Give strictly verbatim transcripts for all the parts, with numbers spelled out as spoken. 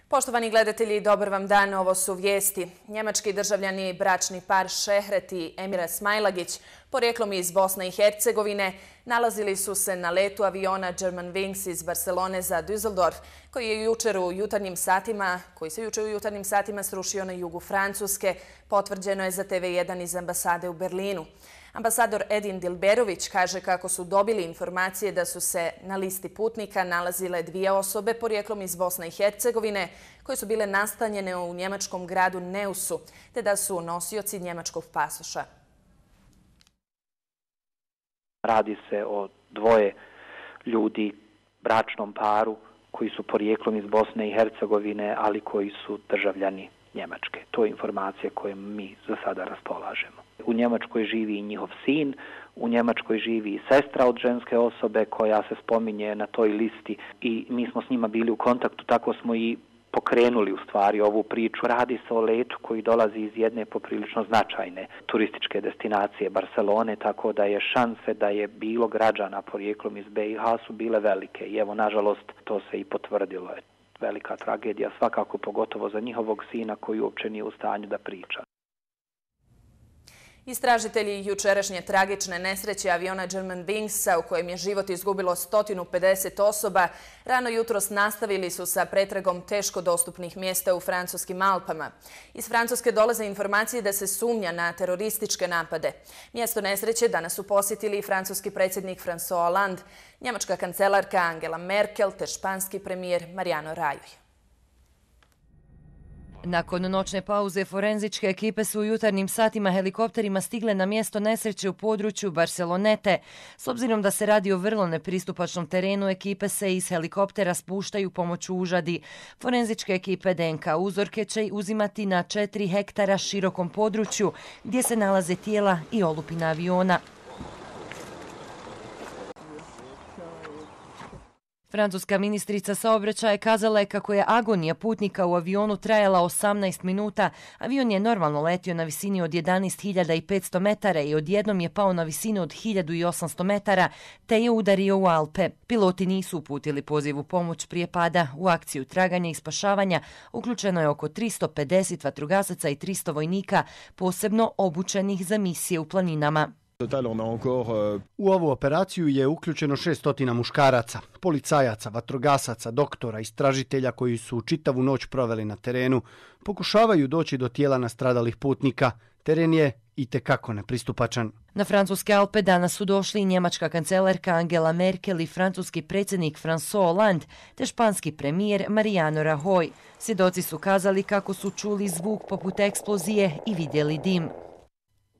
Poštovani gledatelji, dobar vam dan, ovo su vijesti. Njemački državljani bračni par Šehret i Emira Smajlagić, porijeklom iz Bosne i Hercegovine, nalazili su se na letu aviona Germanwings iz Barcelone za Düsseldorf, koji je jučer u jutarnjim satima, koji se jučer u jutarnjim satima srušio na jugu Francuske, potvrđeno je za T V jedan iz ambasade u Berlinu. Ambasador Edin Dilberović kaže kako su dobili informacije da su se na listi putnika nalazile dvije osobe porijeklom iz Bosne i Hercegovine koje su bile nastanjene u njemačkom gradu Neusu, te da su nosioci njemačkog pasoša. Radi se o dvoje ljudi, bračnom paru, koji su porijeklom iz Bosne i Hercegovine, ali koji su državljani Njemačke. To je informacija koje mi za sada raspolažemo. U Njemačkoj živi i njihov sin, u Njemačkoj živi i sestra od ženske osobe koja se spominje na toj listi i mi smo s njima bili u kontaktu, tako smo i pokrenuli u stvari ovu priču. Radi se o letu koji dolazi iz jedne poprilično značajne turističke destinacije Barcelone, tako da je šanse da je bilo građana porijeklom iz B i H su bile velike i evo, nažalost, to se i potvrdilo. Velika tragedija, svakako pogotovo za njihovog sina koji uopće nije u stanju da priča. Istražitelji jučerašnje tragične nesreće aviona Germanwingsa, u kojem je život izgubilo sto pedeset osoba, rano jutros nastavili su sa pretragom teško dostupnih mjesta u francuskim Alpama. Iz Francuske dolaze informacije da se sumnja na terorističke napade. Mjesto nesreće danas su posjetili i francuski predsjednik François Hollande, njemačka kancelarka Angela Merkel te španski premijer Mariano Rajoy. Nakon noćne pauze, forenzičke ekipe su u jutarnjim satima helikopterima stigle na mjesto nesreće u području Barcelonete. S obzirom da se radi o vrlo nepristupačnom terenu, ekipe se iz helikoptera spuštaju pomoću užadi. Forenzičke ekipe D N K uzorke će uzimati na četiri hektara širokom području gdje se nalaze tijela i olupina aviona. Francuska ministrica saobraćaja kazala je kako je agonija putnika u avionu trajala osamnaest minuta. Avion je normalno letio na visini od jedanaest hiljada petsto metara i odjednom je pao na visinu od hiljadu osamsto metara, te je udario u Alpe. Piloti nisu uputili poziv u pomoć prije pada. U akciju traganja i spašavanja uključeno je oko tristo pedeset vatrogasaca i tristo vojnika, posebno obučenih za misije u planinama. U ovu operaciju je uključeno šessto muškaraca, policajaca, vatrogasaca, doktora, istražitelja koji su čitavu noć proveli na terenu. Pokušavaju doći do tijela nastradalih putnika. Teren je itekako nepristupačan. Na francuske Alpe danas su došli i njemačka kancelarka Angela Merkel i francuski predsjednik François Hollande te španski premijer Mariano Rajoy. Svjedoci su kazali kako su čuli zvuk poput eksplozije i vidjeli dim.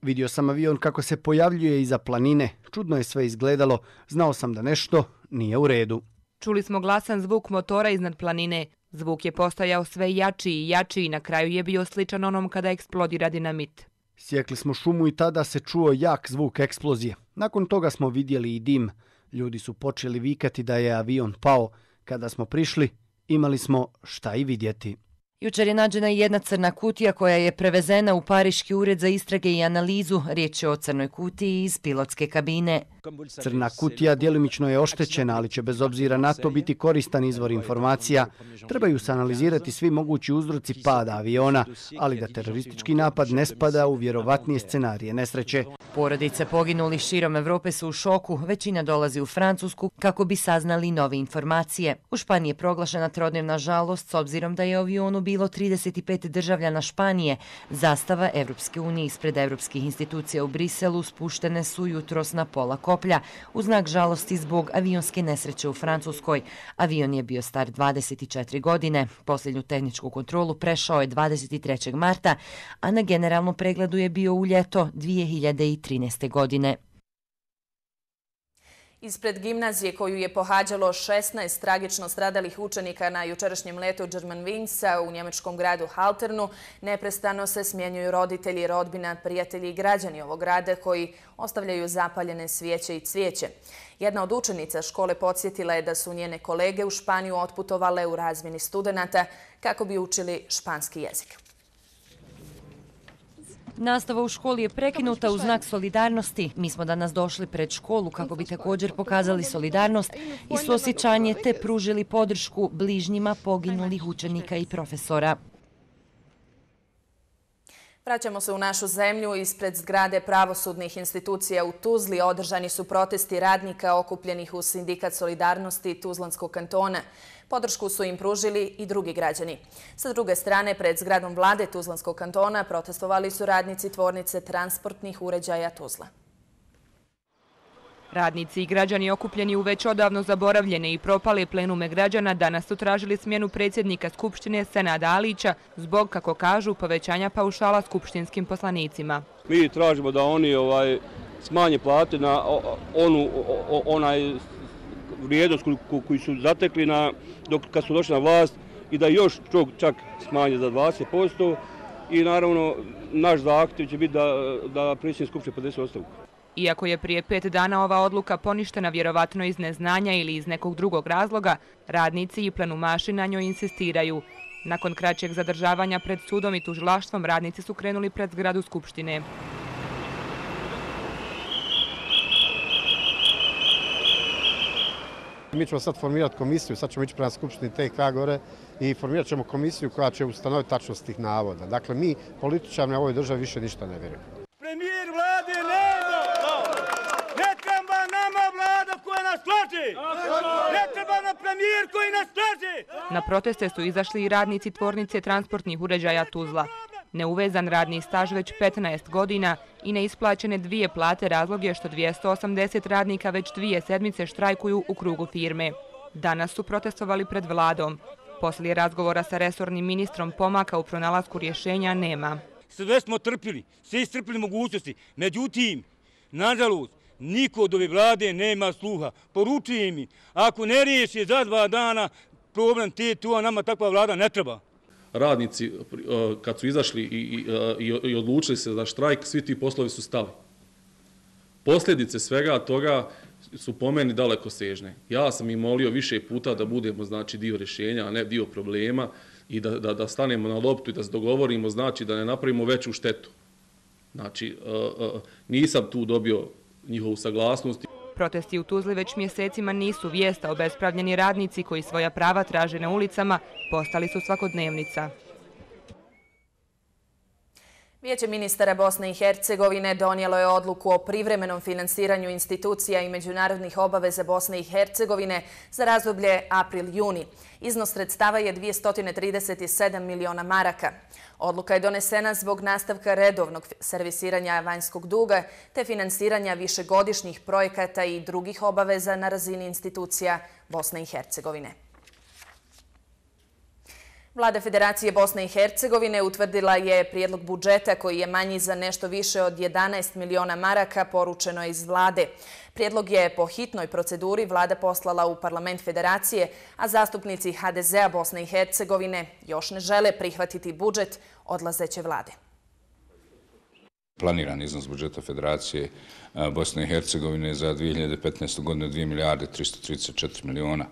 Vidio sam avion kako se pojavljuje iza planine. Čudno je sve izgledalo. Znao sam da nešto nije u redu. Čuli smo glasan zvuk motora iznad planine. Zvuk je postajao sve jači i jači i na kraju je bio sličan onom kada eksplodira dinamit. Sjekli smo šumu i tada se čuo jak zvuk eksplozije. Nakon toga smo vidjeli i dim. Ljudi su počeli vikati da je avion pao. Kada smo prišli, imali smo šta i vidjeti. Jučer je nađena i jedna crna kutija koja je prevezena u Pariški ured za istrage i analizu. Riječ je o crnoj kutiji iz pilotske kabine. Crna kutija djelomično je oštećena, ali će bez obzira na to biti koristan izvor informacija. Trebaju se analizirati svi mogući uzroci pada aviona, ali da teroristički napad ne spada u vjerovatnije scenarije nesreće. Porodice poginulih širom Evrope su u šoku. Većina dolazi u Francusku kako bi saznali nove informacije. U Španiji je proglašena trodnevna žalost s obzirom da je u avionu bilo trideset pet državljana Španije. Zastava Evropske unije ispred evropskih institucija u Briselu spuštene su jutros na pola koplja u znak žalosti zbog avionske nesreće u Francuskoj. Avion je bio star dvadeset četiri godine. Posljednju tehničku kontrolu prešao je dvadeset trećeg marta, a na generalnom pregledu je bio u ljeto dvije hiljade trinaeste. godine. Ispred gimnazije koju je pohađalo šesnaest tragično stradalih učenika na jučerašnjem letu Germanwingsa u njemačkom gradu Halternu, neprestano se smjenjuju roditelji, rodbina, prijatelji i građani ovog grada koji ostavljaju zapaljene svijeće i cvijeće. Jedna od učenica škole podsjetila je da su njene kolege u Španiju otputovale u razmjeni studenata kako bi učili španski jezik. Nastava u školi je prekinuta u znak solidarnosti. Mi smo danas došli pred školu kako bi također pokazali solidarnost i suosjećanje te pružili podršku bližnjima poginulih učenika i profesora. Vraćamo se u našu zemlju. Ispred zgrade pravosudnih institucija u Tuzli održani su protesti radnika okupljenih u Sindikat solidarnosti Tuzlanskog kantona. Podršku su im pružili i drugi građani. Sa druge strane, pred zgradom vlade Tuzlanskog kantona protestovali su radnici tvornice transportnih uređaja Tuzla. Radnici i građani okupljeni u već odavno zaboravljene i propale plenume građana danas su tražili smjenu predsjednika Skupštine Senada Alića zbog, kako kažu, povećanja paušala skupštinskim poslanicima. Mi tražimo da oni ovaj, smanje plate na onu onaj vrijednost koju su zatekli na, dok kad su došli na vlast i da još čak smanje za dvadeset posto i naravno naš zahtjev će biti da, da predsjednik Skupštine podnese ostavku. Iako je prije pet dana ova odluka poništena vjerovatno iz neznanja ili iz nekog drugog razloga, radnici i plenumaši na njoj insistiraju. Nakon kraćeg zadržavanja pred sudom i tužilaštvom, radnici su krenuli pred zgradu Skupštine. Mi ćemo sad formirati komisiju, sad ćemo ići prema Skupštini T K gore i formirat ćemo komisiju koja će ustanoviti tačnost tih navoda. Dakle, mi političari na ovoj državi više ništa ne vjerujemo. Premijer vlade nema! Ne treba nama vlada koja nas slaže! Ne treba nam premijer koji nas slaže! Na proteste su izašli i radnici tvornice transportnih uređaja Tuzla. Neuvezan radni staž već petnaest godina i neisplaćene dvije plate razlog je što dvjesto osamdeset radnika već dvije sedmice štrajkuju u krugu firme. Danas su protestovali pred vladom. Poslije razgovora sa resornim ministrom pomaka u pronalasku rješenja nema. Sve smo trpili, sve istrpili mogućnosti. Međutim, nažalost, niko od ove vlade nema sluha. Poručujem mi, ako ne riješi za dva dana problem te tu, a nama takva vlada ne treba. Radnici, kad su izašli i, i, i odlučili se za štrajk, svi ti poslovi su stali. Posljedice svega toga su po meni dalekosežne. Ja sam im molio više puta da budemo znači, dio rješenja, a ne dio problema i da, da, da stanemo na loptu i da se dogovorimo, znači da ne napravimo veću štetu. Znači, nisam tu dobio njihovu saglasnost. Protesti u Tuzli već mjesecima nisu vijest, a obespravljeni radnici koji svoja prava traže na ulicama postali su svakodnevnica. Vijeće ministara Bosne i Hercegovine donijelo je odluku o privremenom finansiranju institucija i međunarodnih obaveza Bosne i Hercegovine za razdoblje april-juni. Iznos sredstava je dvjesto trideset sedam miliona maraka. Odluka je donesena zbog nastavka redovnog servisiranja vanjskog duga te finansiranja višegodišnjih projekata i drugih obaveza na razini institucija Bosne i Hercegovine. Vlada Federacije Bosne i Hercegovine utvrdila je prijedlog budžeta koji je manji za nešto više od jedanaest miliona maraka, poručeno je iz vlade. Prijedlog je po hitnoj proceduri vlada poslala u parlament Federacije, a zastupnici H D Z-a Bosne i Hercegovine još ne žele prihvatiti budžet odlazeće vlade. Planiran iznos budžeta Federacije Bosne i Hercegovine za dvije hiljade petnaestu. godinu dvije milijarde tristo trideset četiri miliona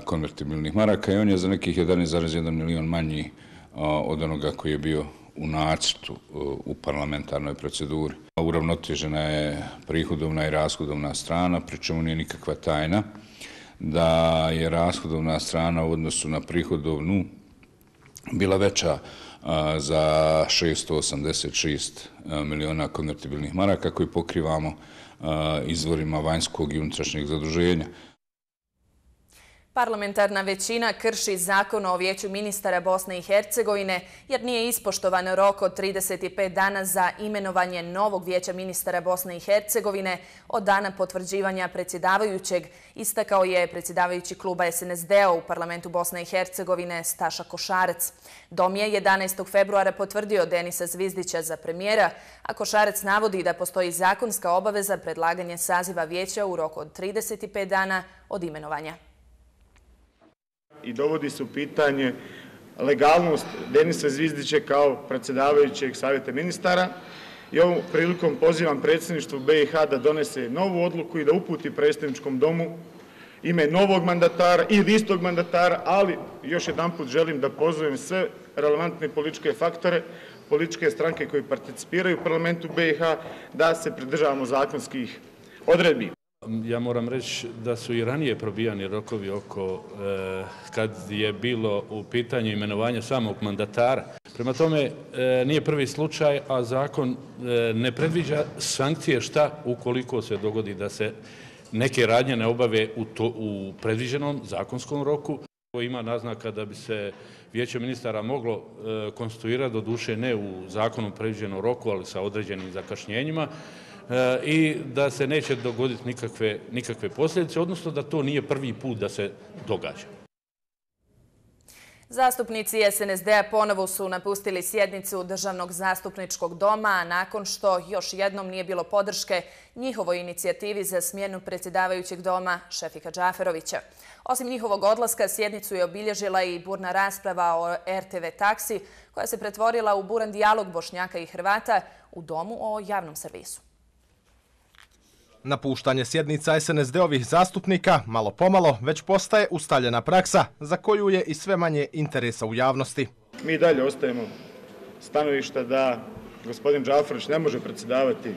konvertibilnih maraka i on je za nekih jedanaest zarez jedan milion manji od onoga koji je bio u nacrtu u parlamentarnoj proceduri. Uravnotežena je prihodovna i rashodovna strana, pri čemu nije nikakva tajna da je rashodovna strana u odnosu na prihodovnu bila veća za šesto osamdeset šest miliona konvertibilnih maraka koji pokrivamo izvorima vanjskog i unutrašnjeg zaduženja. Parlamentarna većina krši zakon o Vijeću ministara Bosne i Hercegovine jer nije ispoštovan rok od trideset pet dana za imenovanje novog Vijeća ministara Bosne i Hercegovine od dana potvrđivanja predsjedavajućeg, istakao je predsjedavajući kluba S N S D-a u parlamentu Bosne i Hercegovine Staša Košarac. Dom je jedanaestog februara potvrdio Denisa Zvizdića za premijera, a Košarac navodi da postoji zakonska obaveza predlaganja saziva vijeća u roku od trideset pet dana od imenovanja. I dovodi se u pitanje legalnost Denisa Zvizdića kao predsjedavajućeg savjeta ministara. I ovom prilikom pozivam predsjedništvo B i H da donese novu odluku i da uputi predsjedničkom domu ime novog mandatara ili istog mandatara, ali još jedanput želim da pozovem sve relevantne političke faktore, političke stranke koji participiraju u parlamentu B i H, da se pridržavamo zakonskih odredbi. Ja moram reći da su i ranije probijani rokovi oko eh, kad je bilo u pitanju imenovanja samog mandatara. Prema tome eh, nije prvi slučaj, a zakon eh, ne predviđa sankcije šta ukoliko se dogodi da se neke radnje ne obave u, to, u predviđenom zakonskom roku. Ima naznaka da bi se Vijeće ministara moglo e, konstituirati, doduše ne u zakonom predviđenom roku, ali sa određenim zakašnjenjima e, i da se neće dogoditi nikakve, nikakve posljedice, odnosno da to nije prvi put da se događa. Zastupnici S N S D-a ponovo su napustili sjednicu Državnog zastupničkog doma nakon što još jednom nije bilo podrške njihovoj inicijativi za smjenu predsjedavajućeg doma Šefika Džaferovića. Osim njihovog odlaska, sjednicu je obilježila i burna rasprava o R T V taksi koja se pretvorila u buran dijalog Bošnjaka i Hrvata u domu o javnom servisu. Napuštanje sjednica S N S D-ovih zastupnika malo pomalo već postaje ustaljena praksa za koju je i sve manje interesa u javnosti. Mi dalje ostajemo stanovišta da gospodin Džaferović ne može predsjedavati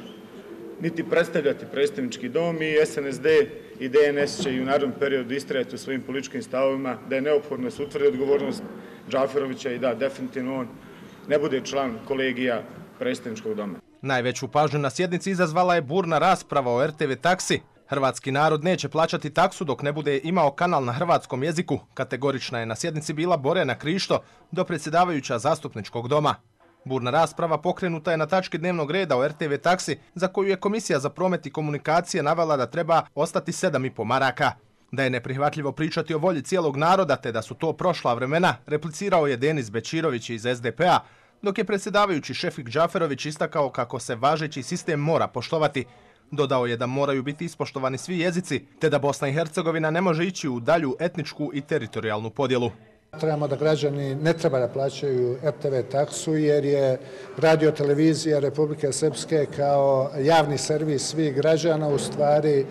niti predstavljati predstavnički dom i S N S D i D N S će i u narednom periodu istrajati u svojim političkim stavovima da je neophodno da se utvrdi odgovornost Džaferovića i da definitivno on ne bude član kolegija predstavničkog doma. Najveću pažnju na sjednici izazvala je burna rasprava o R T V taksi. Hrvatski narod neće plaćati taksu dok ne bude imao kanal na hrvatskom jeziku. Kategorična je na sjednici bila Borjana Krišto, dopredsjedavajuća zastupničkog doma. Burna rasprava pokrenuta je na tački dnevnog reda o R T V taksi, za koju je Komisija za promet i komunikacije navela da treba ostati sedam i po maraka. Da je neprihvatljivo pričati o volji cijelog naroda te da su to prošla vremena, replicirao je Denis Bečirović iz S D P-a, dok je predsjedavajući Šefik Džaferović istakao kako se važeći sistem mora poštovati. Dodao je da moraju biti ispoštovani svi jezici, te da Bosna i Hercegovina ne može ići u dalju etničku i teritorijalnu podjelu. Trebamo da građani ne treba da plaćaju R T V taksu jer je radio-televizija Republike Srpske kao javni servis svih građana u stvari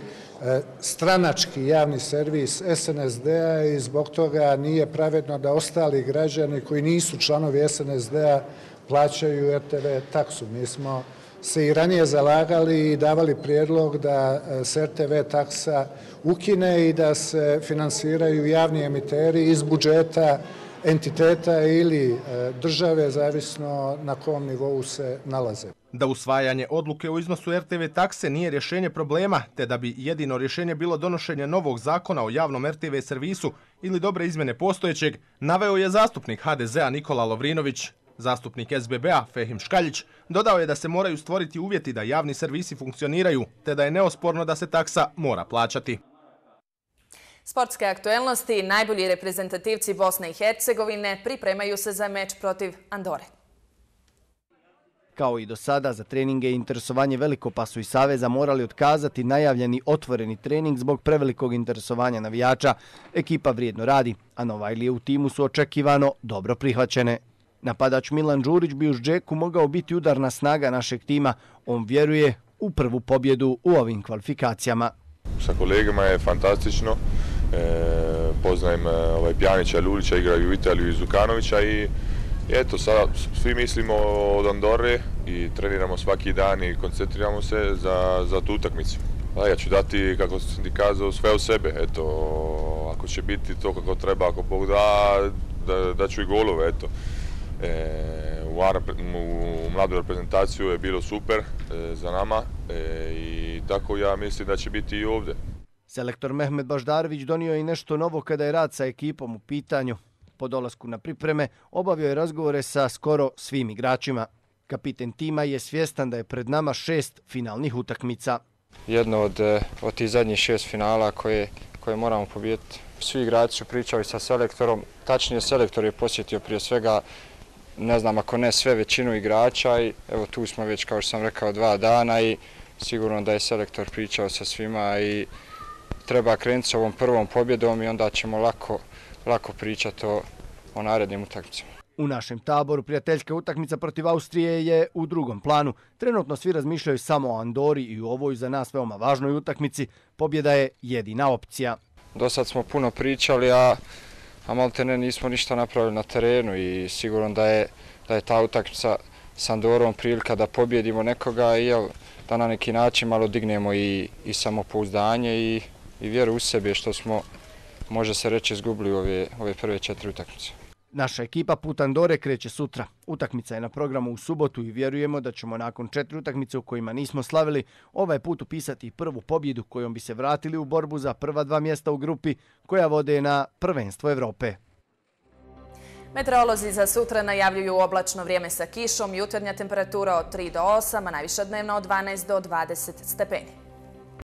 stranački javni servis S N S D-a i zbog toga nije pravedno da ostali građani koji nisu članovi S N S D-a plaćaju R T V taksu. Mi smo se i ranije zalagali i davali prijedlog da se R T V taksa ukine i da se finansiraju javni emiteri iz budžeta entiteta ili države, zavisno na kom nivou se nalaze. Da usvajanje odluke o iznosu R T V takse nije rješenje problema, te da bi jedino rješenje bilo donošenje novog zakona o javnom R T V servisu ili dobre izmjene postojećeg, naveo je zastupnik H D Z-a Nikola Lovrinović. Zastupnik S B B-a Fehim Škaljić dodao je da se moraju stvoriti uvjeti da javni servisi funkcioniraju, te da je neosporno da se taksa mora plaćati. Sportske aktuelnosti, najbolji reprezentativci Bosne i Hercegovine pripremaju se za meč protiv Andore. Kao i do sada, za treninge i interesovanje veliko pa su i Saveza morali otkazati najavljeni otvoreni trening zbog prevelikog interesovanja navijača. Ekipa vrijedno radi, a Novajlije u timu su očekivano dobro prihvaćene. Napadač Milan Đurić bi uz Džeku mogao biti udarna snaga našeg tima. On vjeruje u prvu pobjedu u ovim kvalifikacijama. Sa kolegama je fantastično. E, poznajem ovaj Pjanića, Lulića, igraju u Italiju i Zukanovića i eto, sada svi mislimo od Andore i treniramo svaki dan i koncentriramo se za, za tu utakmicu. Da, ja ću dati, kako sam ti kazao, sve od sebe. Eto, ako će biti to kako treba, ako Bog da, da, da ću i golove, eto. E, u, u mladu reprezentaciju je bilo super e, za nama e, i tako ja mislim da će biti i ovdje. Selektor Mehmet Baždarević donio je i nešto novo kada je rad sa ekipom u pitanju. Po dolasku na pripreme obavio je razgovore sa skoro svim igračima. Kapiten tima je svjestan da je pred nama šest finalnih utakmica. Jedno od, od tih zadnjih šest finala koje, koje moramo pobijediti. Svi igrači su pričali sa selektorom, tačnije selektor je posjetio prije svega, ne znam ako ne sve, većinu igrača i evo tu smo već, kao što sam rekao, dva dana i sigurno da je selektor pričao sa svima i treba krenuti s ovom prvom pobjedom i onda ćemo lako, lako pričati o, o narednim utakmicama. U našem taboru prijateljska utakmica protiv Austrije je u drugom planu. Trenutno svi razmišljaju samo o Andori i u ovoj za nas veoma važnoj utakmici pobjeda je jedina opcija. do sad smo puno pričali, a, a malte ne nismo ništa napravili na terenu i sigurno da je, da je ta utakmica s Andorom prilika da pobjedimo nekoga i jel, da na neki način malo dignemo i, i samopouzdanje i, i vjeru u sebe što smo, može se reći, izgubili ove, ove prve četiri utakmice. Naša ekipa put Andore kreće sutra. Utakmica je na programu u subotu i vjerujemo da ćemo nakon četiri utakmice u kojima nismo slavili ovaj put upisati prvu pobjedu kojom bi se vratili u borbu za prva dva mjesta u grupi koja vode na prvenstvo Evrope. Meteorolozi za sutra najavljuju oblačno vrijeme sa kišom, jutarnja temperatura od tri do osam, a najviša dnevna od dvanaest do dvadeset stepeni.